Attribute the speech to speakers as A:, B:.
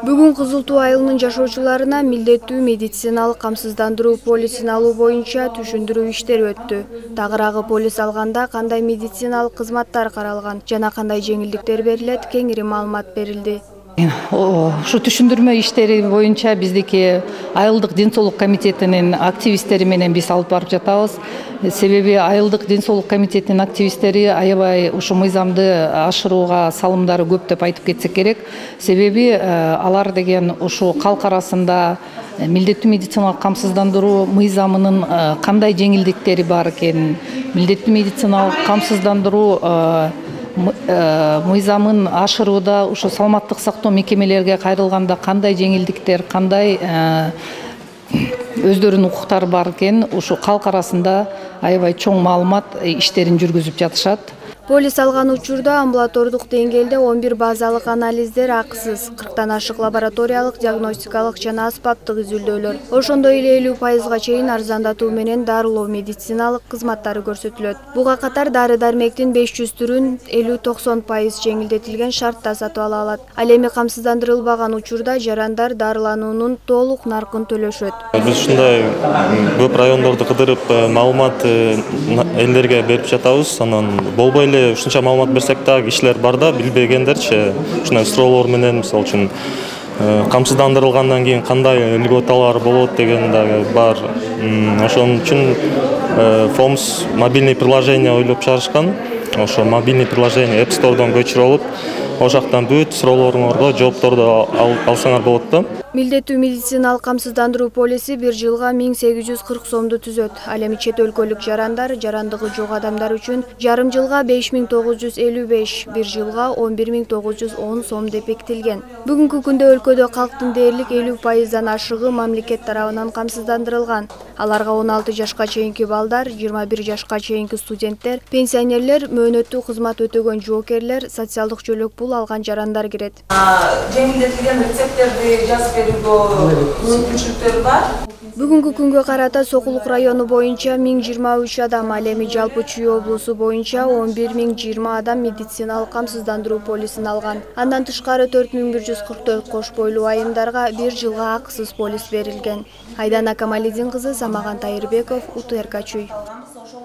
A: Бүгүн Кызыл Туу айылынын жашоочуларына милдеттүү медициналык камсыздандыруу полисин алуу боюнча түшүндүрүү иштери өттү. Тагыраагы полис алганда кандай медициналык кызматтар каралган жана кандай жеңилдиктер берилет, кеңири маалымат берилди.
B: Ушу түшүндүрмө иштери боюнча биздики айылдык ден соолук комитетинин активисттери менен биз алып барып жатабыз. Себеби айылдык ден соолук комитетинин активисттери аябай ушу мыйзамды ашырууга салымдары көп деп айтып кетсек керек. Себеби алар деген ушу калк арасында милдеттүү медициналык камсыздандыруу мыйзамынын кандай жеңилдиктери бар экенин, милдеттүү медициналык камсыздандыруу мыйзамын ашырууда ушу саламаттык сактоо мекемелерге кайрылганда кандай жеңилдиктер, кандай өздөрүнүн укуктары бар экен, ушу калк арасында аябай чоң маалымат иштерин жүргүзүп жатышат.
A: Полис алган учурда амбулатордук деңгээлде 11 базалык анализдер акысыз, 40тан ашык лабораториялык, диагностикалык жана аспаптык изилдөөлөр, ошондой эле 50%га чейин арзандатуу менен дарылоо медициналык кызматтары көрсөтүлөт. Буга катар дары-дармектин 500 түрүн 50–90% жеңилдетилген шартта сатып ала алат. Ал эми камсыздандырылбаган учурда жарандар дарылануунун толук наркын төлөшөт.
C: Биз ушундай көп райондорду кыдырып маалымат элдерге берип жатабыз. Анан болбой эле ушунча маалымат берсек дагы кишилер бар да, билбегендерчи ушундай суроолор менен, мисалы үчүн камсыздандырылгандан кийин кандай льготалар болот деген дагы бар. Ошон үчүн ФОМС мобильный приложение ойлоп чыгарышкан. Ошо мобильный приложение App Store'дон көчүрүп алып, ошол жактан бүт суроолоруңорго жоопторду алсаңар болот да.
A: Милдеттүү медициналык камсыздандыруу полиси бир жылга 1840 сомду түзөт. Ал эми чет өлкөлүк жарандар, жарандыгы жок адамдар үчүн жарым жылга 5955, бир жылга 11910 сом деп бекитилген. Бүгүнкү күндө өлкөдө калктын дээрлик 50%дан ашыгы мамлекет тарабынан камсыздандырылган. Аларга 16 жашка чейинки балдар, 21 жашка чейинки студенттер, пенсионерлер, мөөнөттүү кызмат өтөгөн жоокерлер, социалдык жөлөк пул алган жарандар кирет.
D: Жеңилдетилген рецепттерди жазып берүүгө мүмкүнчүлүктөр бар.
A: Бүгүнкү күнгө карата Сокулук району боюнча 1023 адам, ал эми жалпы Чүй облусу боюнча 11020 адам медициналык камсыздандыруу полисин алган. Андан тышкары 4144 кош бойлуу айымдарга бир жылга акысыз полис берилген. Айдана Камалидин кызы, Самаган Тайырбеков, УТРК Чүй.